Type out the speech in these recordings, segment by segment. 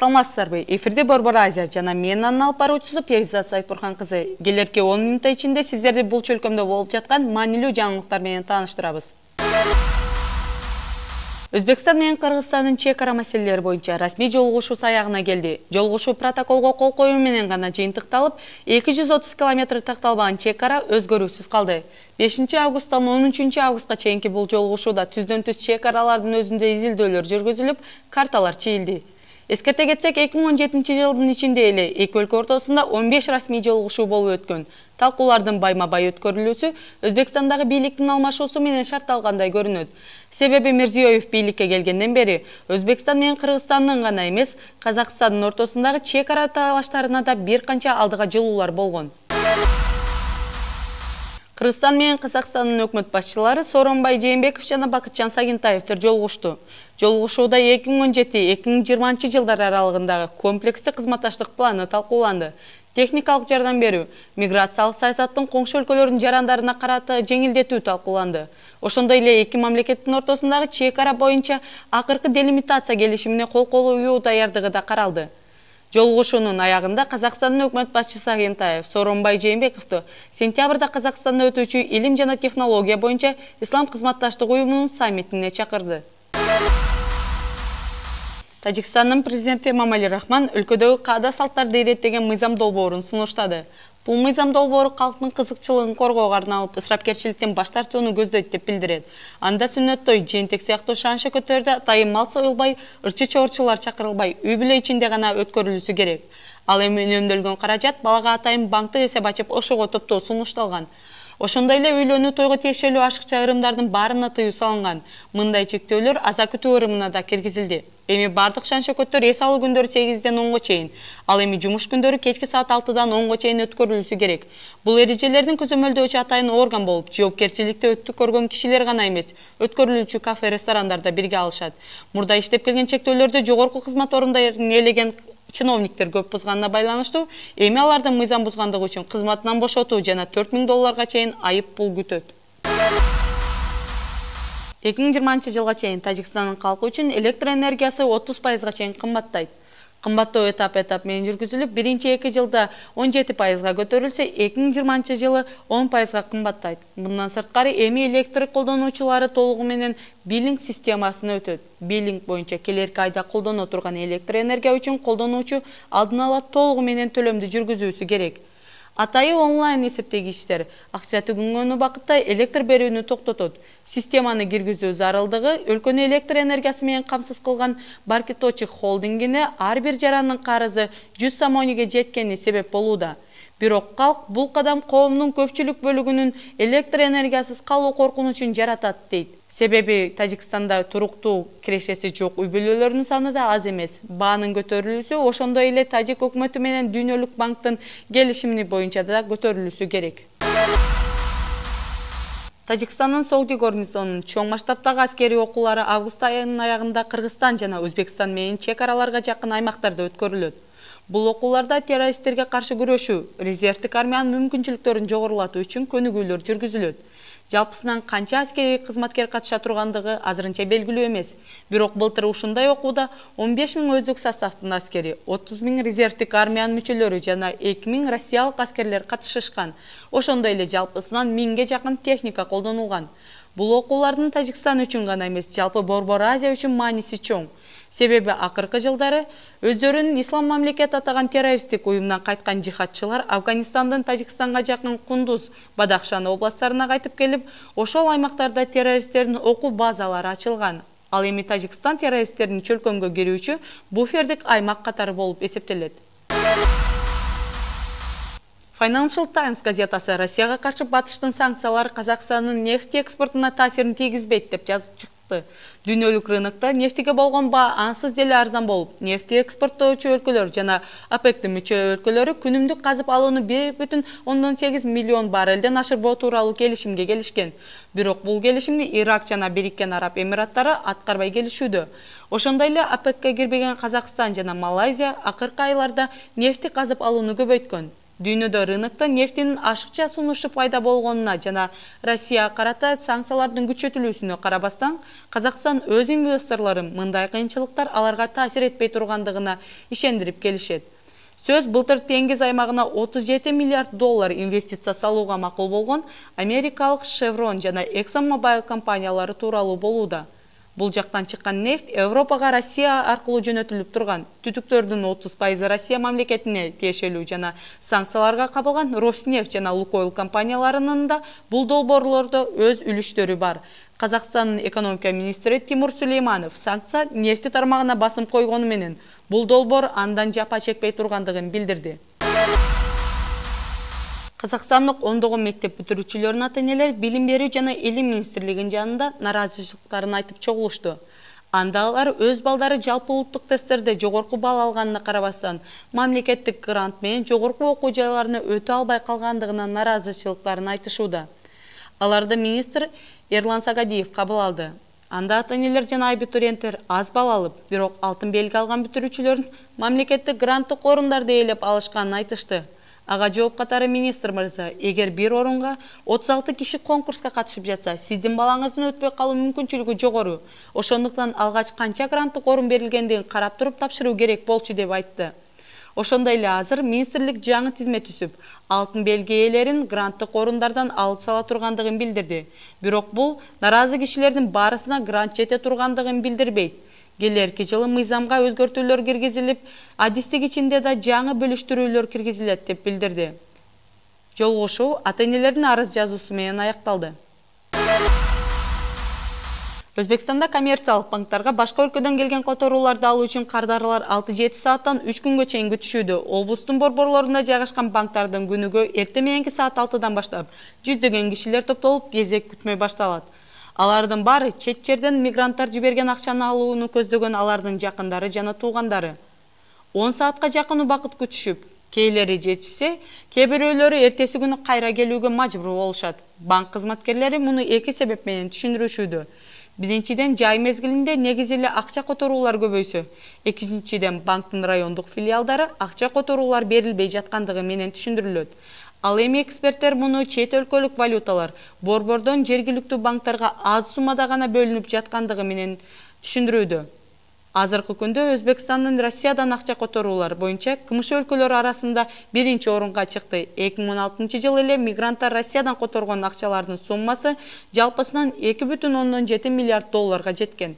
Саламатсыздарбы? Эфирде Борбор Азия жана мен анын алып баруучусу Перизат Сайтбурхан кызы. Келерки 10 минут ичинде сиздерди бул чөлкөмдө болуп жаткан маанилүү жаңылыктар менен тааныштырабыз. Өзбекстан менен Кыргызстандын чек ара маселелери боюнча расмий жолугушуу аягына келди. Жолугушуу протоколго кол коюу менен гана жыйынтыкталып, 230 км такталбаган чек ара өзгөрүүсүз калды. 5 августтан 13 августка чейинки бул жолугушууда түздөн-түз чек аралардын өзүндө изилдөөлөр жүргүзүлүп, карталар чийилди. Эскерте кетсек, 2017 жылдын ичинде эле эки өлкө ортосунда 15 расмий жолугушуу болуп өткөн. Талкуулардын байма-бай өткөрүлүүсү Өзбекстандагы бийликтин алмашуусу менен шартталгандай көрүнөт. Себеби Мирзиёев бийликке келгенден бери Өзбекстан менен Кыргызстандын гана эмес, Казакстандын ортосундагы чек ара талаштарына да бир канча алдыга жылуулар болгон. Кыргызстан менен Казакстандын өкмөт башчылары Сооронбай Жээнбеков жана Бакытжан Сагынтаевдер жолугушту. Жолугушууда 2017-2020 жылдар аралыгындагы комплекстик кызматташтык планы талкууланды. Техникалык жардам берүү, миграциялык саясаттын коңшу өлкөлөрдүн жарандарына карата жеңилдетүү талкууланды. Ошондой эле эки мамлекеттин ортосундагы чек ара боюнча акыркы делимитация келишимине кол коюу даярдыгы да каралды. Жолугушуунун аягында Казакстандын өкмөт башчысы Сагынтаев Сооронбай Жээнбековду сентябрда Казакстанда өтүүчү илим жана технология боюнча Ислам кызматташтык уюмунун саммитине чакырды. Тажикстандын президенти Эмомали Рахмон өлкөдөгү каада салттарды иреттеген мыйзам долбоорун сунуштады. Бул мыйзам долбоору калктын кызыкчылыгын коргоого арналып, ысырапкерчиликтен баш тартууну көздөйт деп билдирет. Анда сүннөт той, жыйынтек сыяктуу шаан-шөкөттөрдө атайын мал союлбай, ырчы-чорчулар чакырылбай, үй-бүлө ичинде гана өткөрүлүшү керек. Ал эми үнөмдөлгөн каражат балага атайын банктык эсеп ачып, ошого топтоо сунушталган. Ошондой эле үйлөнүү тойго тиешелүү ашыкча ырымдардын баарына тыюу салынган. Мындай чектөөлөр аза күтүү ырымына да киргизилди. Эми бардык шаан-шөкөттөр эс алуу күндөрү 8-ден 10-го чейин, ал эми жумуш күндөрү кечки саат 6-дан 10-го чейин өткөрүлүшү керек. Бул эрежелердин көзөмөлдөөчү атайын орган болуп, жоопкерчиликти өткөргөн кишилер гана эмес, өткөрүлүүчү кафе, ресторандарда бирге алышат. Мурда иштеп келген чектөөлөрдү жогорку кызмат орундарын ээлеген чиновниктер көп бузганына байланыштуу, эми алардын мыйзам бузгандыгы үчүн кызматынан бошотуу жана $4000 чейин айып пул күтөт. 2020 жылга чейин Тажикстандын калкы үчүн электр энергиясы 30% чейин кымбаттайт. Кымбаттоо этап менен жүргүзүлүп, биринчи 2 жылда 17% көтөрүлсө, 2020 жылы 10% кымбаттайт. Мындан сырткары эми электр колдонуучулары толугу менен биллинг системасына өтөт. Биллинг боюнча келерки айда колдоно турган электр энергия үчүн колдонуучу алдын ала толугу менен төлөмдү жүргүзүүсү керек. Атайы онлайн эсептегичтер акча түгөнгөн убакытта электр берүүнү токтотот. Системаны киргизүү зарылдыгы өлкөнү электр энергиясы менен камсыз кылган Баркиточек холдингине ар бир жарандын карызы 100 сомониге жеткени себеп болууда. Бирок калк бул кадам коомдун көпчүлүк бөлүгүнүн электр энергиясыз калуу коркунучун жаратат дейт. Себеби Тажикстанда туруктуу кирешеси жок үй-бүлөлөрдүн саны да аз эмес. Баанын көтөрүлүүсү ошондой эле Тажик өкмөтү менен Дүйнөлүк банктын келишими боюнча да көтөрүлүшү керек. Тажикстандын Согди гарнизонунун чоң масштабтагы аскерий окуулары август айынын аягында Кыргызстан жана Өзбекстан менен чек араларга жакын аймактарда өткөрүлөт. Бул окууларда террористтерге каршы күрөшүү, резервдик армиянын мүмкүнчүлүктөрүн жогорулатуу үчүн көнүгүүлөр жүргүзүлөт. Жалпысынан канча аскерий кызматкер катыша тургандыгы азырынча белгилүү эмес. Бирок былтыр ушундай окууда 15 000 өздүк составдын аскери, 30 000 резервдик армиянын мүчөлөрү жана 2 000 россиялык аскерлер катышышкан. Ошондой эле жалпысынан 1000ге жакын техника колдонулган. Бул окуулардын Тажикстан үчүн гана эмес, жалпы Борбор Азия үчүн мааниси чоң. Себеби акыркы жылдары өздөрүн ислам мамлекет атаган террористтик уюмдан кайткан жихадчылар Афганистандын Тажикстанга жакын Кундуз, Бадахшан областтарына кайтып келип, ошол аймактарда террористтердин окуу базалары ачылган. Ал эми Тажикстан террористтердин чөлкөмгө кирүүчү буфердик аймак катары болуп эсептелет. Financial Times газетасы Россияга каршы батыштын санкциялары Казакстандын нефть экспортуна таасирин тийгизбейт деп жазып чыкты. Дүйнөлүк рынокто нефтиге болгон баа ансыз деле арзан болуп, нефти экспорттоочу өлкөлөр жана ОПЕКтин мүчө өлкөлөрү күнүмдүк казып алууну 1,8 миллион баррелден ашырбоо тууралуу келишимге келишкен. Бирок бул келишимди Ирак жана Бириккен Араб Эмираттары аткарбай келишүүдө. Ошондой эле ОПЕКке кирбеген Казакстан жана Малайзия акыркы айларда нефти казып алууну көбөйткөн. Дүйнөдө рынокто нефтинин ашыкча сунушу пайда болгонуна жана Россияга карата санкциялардын күчөтүлүүсүнө карабастан, Казакстан өз инвесторлорун мындай кыйынчылыктар аларга таасир этпей тургандыгына ишендирип келишет. Сөз былтыр Теңиз аймагына 37 миллиард доллар инвестиция салууга макул болгон америкалык Chevron жана ExxonMobil компаниялары тууралуу болууда. Бул жактан чыккан нефть Европага Россия аркылуу жөнөтүлүп турган. Түтүктөрдүн 30% Россия мамлекетине тиешелүү жана санкцияларга кабылган Роснефть жана Лукойл компанияларынын да бул долбоорлордо өз үлүштөрү бар. Казакстандын экономика министри Тимур Сулейманов санкция нефти тармагына басым койгону менен бул долбоор андан жапа чекпей тургандыгын билдирди. Казакстандык ондогон мектеп бүтүрүүчүлөрүнүн ата-энелери Билим берүү жана Илим министрлигинин жанында наразычылыктарын айтып чогулушту. Анда алар өз балдары жалпы улуттук тесттерде жогорку балл алганына карабастан, мамлекеттик грант менен жогорку окуу жайларына өтө албай калгандыгына наразычылыктарын айтышууда. Аларды министр Эрлан Сагадиев кабыл алды. Анда ата-энелер жана абитуриенттер аз балл алып, бирок алтын белги алган бүтүрүүчүлөрдүн мамлекеттик гранттык орундарды ээлеп алышканын айтышты. Ага жооп катары министр мырза, эгер бир орунга 36 киши конкурска катышып жатса, сиздин балаңыздын өтпөй калуу мүмкүнчүлүгү жогору. Ошондуктан алгач канча гранттык орун берилгендигин карап туруп тапшыруу керек болчу деп айтты. Ошондой эле азыр министрлик жаңы тизме түзүп, алтын белги ээлерин гранттык орундардан алып сала тургандыгын билдирди. Бирок бул наразы кишилердин баарысына грант жете тургандыгын билдирбейт. Келерки жылы мыйзамга өзгөртүүлөр киргизилип, адистик ичинде да жаңы бөлүштүрүүлөр киргизилет деп билдирди. Жолугушуу ата-энелердин арыз жазуусу менен аякталды. Өзбекстанда коммерциялык банктарга башка өлкөдөн келген которууларды алуу үчүн кардарлар 6-7 сааттан 3 күнгө чейин күтүшүүдө. Облустун борборлорунда жайгашкан банктардын күнүгө эртең мененки саат 6-дан баштап жүздөгөн кишилер топтолуп кезек күтмөй башталат. Алардын баары чет жерден мигранттар жиберген акчаны алууну көздөгөн алардын жакындары жана туугандары. 10 саатка жакын убакыт күтүшүп, кейлери жетишсе, кээ бирөөлөрү эртеси күнү кайра келүүгө мажбур болушат. Банк кызматкерлери муну эки себеп менен түшүндүрүшүүдө. Биринчиден, жай мезгилинде негизи эле акча которуулар көбөйсө. Экинчиден, банктын райондук филиалдары акча которуулар берилбей жаткандыгы менен түшүндүрүлөт. Ал эми эксперттер муну чет өлкөлүк валюталар борбордон жергиликтүү банктарга аз суммада гана бөлүнүп жаткандыгы менен түшүндүрүүдө. Азыркы күндө Өзбекстандын Россиядан акча которуулар боюнча кымшы өлкөлөр арасында биринчи орунга чыкты. 2016-жылы эле мигранттар Россиядан которгон акчалардын суммасы жалпысынан 2,7 миллиард долларга жеткен.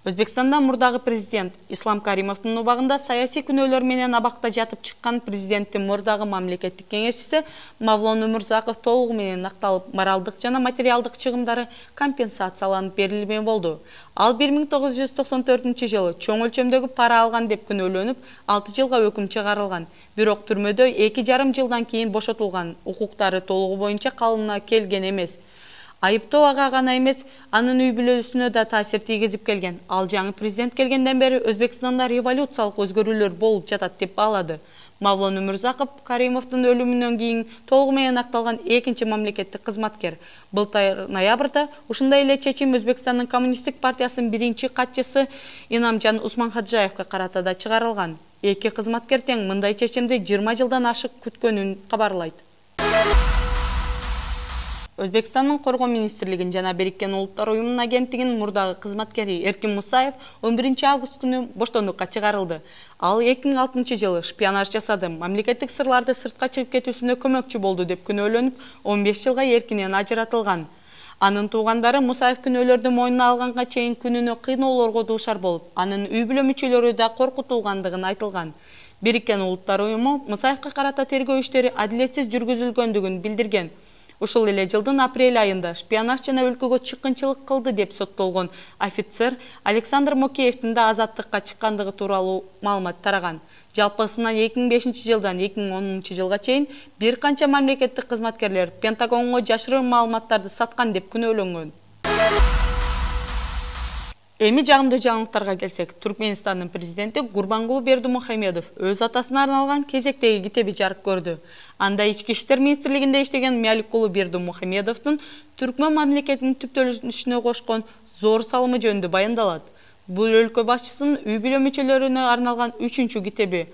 Өзбекстанда мурдагы президент Ислам Каримовдун убагында саясий күнөөлөр менен абакта жатып чыккан президенттин мурдагы мамлекеттик кеңешчиси Мавлон Өмүрзаков толугу менен акталып, моралдык жана материалдык чыгымдары компенсацияланып берилмей болду. Ал 1994-жылы чоң өлчөмдөгү пара алган деп күнөөлөнүп, 6 жылга өкүм чыгарылган. Бирок түрмөдө 2,5 жылдан кийин бошотулган, укуктары толугу боюнча калыбына келген эмес. Айыптоо ага гана эмес, анын үй бүлөсүнө да таасир тийгизип келген. Ал жаңы президент келгенден бери Өзбекстанда революциялык өзгөрүүлөр болуп жатат деп баалады. Мавлон Өмүрзаков Каримовдун өлүмүнөн кийин толугу менен акталган экинчи мамлекеттик кызматкер. Былтыр ноябрда ушундай эле чечим Өзбекстандын коммунисттик партиясынын биринчи катчысы Инамжан Усманхаджаевге карата да чыгарылган. Эки кызматкер тең мындай чечимди 20 жылдан ашык күткөнүн кабарлайт. Өзбекстандын Коргоо министрлигин жана Бириккен Улуттар уюмунун агенттигинин мурдагы кызматкери Эркин Мусаев 11 август күнү боштондукка чыгарылды. Ал 2006-жылы шпионаж жасады, мамлекеттик сырларды сыртка чыгып кетүүсүнө көмөкчү болду деп күнөөлөнүп, 15 жылга эркинен ажыратылган. Анын туугандары Мусаев күнөөлөрдү мойнуна алганга чейин күнүнө кыйноолорго дуушар болуп, анын үй бүлө мүчөлөрү да коркутулгандыгын айтылган. Бириккен Улуттар уюму Мусаевга карата тергөө иштери адилетсиз жүргүзүлгөндүгүн билдирген. Ушул эле жылдын апрель айында шпионаж жана өлкөгө чыккынчылык кылды деп соттолгон офицер Александр Мокеевдин да азаттыкка чыккандыгы тууралуу маалымат тараган. Жалпысынан 2005-жылдан 2010-жылга чейин бир канча мамлекеттик кызматкерлер Пентагонго жашырын маалыматтарды саткан деп күнөөлөнгөн. Эми жагымдуу жаңылыктарга келсек, Түркмөнстандын президенти Гурбангулы Бердимухамедов өз атасына арналган кезектеги китеби жарык көрдү. Анда ички иштер министрлигинде иштеген Мяликулу Бердимухамедовдун Түркмөн мамлекетинин түптөлүшүнө кошкон зор салымы жөнүндө баяндалат. Бул өлкө башчысынын үй бүлө мүчөлөрүнө арналган 3-китеби.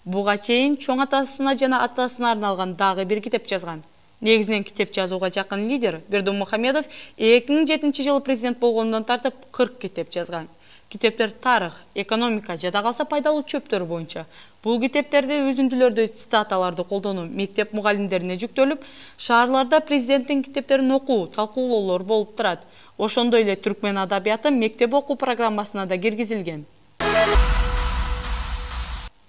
Буга чейин чоң атасына жана атасына арналган дагы бир китеп жазган. Негизинен китеп жазууга жакын лидер Бердым Мухамедов 2007-жылы президент болгондон тартып 40 китеп жазган. Китептер тарых, экономика жада калса пайдалуу чөптөр боюнча. Бул китептерде өзүндүлөрдүү цитаталарды колдонуу мектеп мугалимдерине жүктөлүп, шаарларда президенттин китептерин окуу, талкуулоолор болуп турат. Ошондой эле түркмен адабияты мектеп окуу программасына да киргизилген.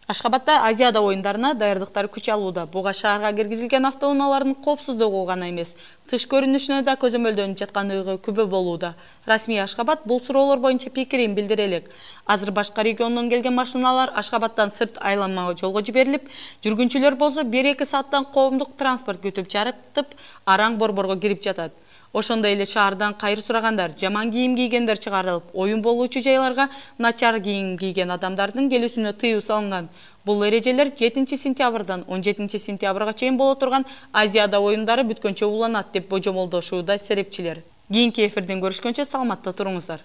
Ашхабадда Азиада оюндарына даярдыктар күч алууда. Буга шаарга киргизилген автоунаалардын коопсуздугу гана эмес, тыш көрүнүшүнө да көзөмөлдөнүп жаткандыгы күбө болууда. Расмий Ашхабад бул суроолор боюнча пикирин билдире элек. Азыр башка региондон келген машиналар Ашхабаддан сырт айланма жолго жиберилип, жүргүнчүлөр болсо 1-2 сааттан коомдук транспорт күтүп жарыктып, араң борборго кирип жатат. Ошондой эле шаардан кайыр сурагандар, жаман кийим кийгендер чыгарылып, оюн болуучу жайларга начар кийим кийген адамдардын келүүсүнө тыюу салынган. Бул эрежелер 7-сентябрдан 17-сентябрга чейин боло турган Азиада оюндары бүткөнчө уланат деп божомолдошууда серепчилер. Кийинки эфирден көрүшкөнчө саламатта туруңуздар.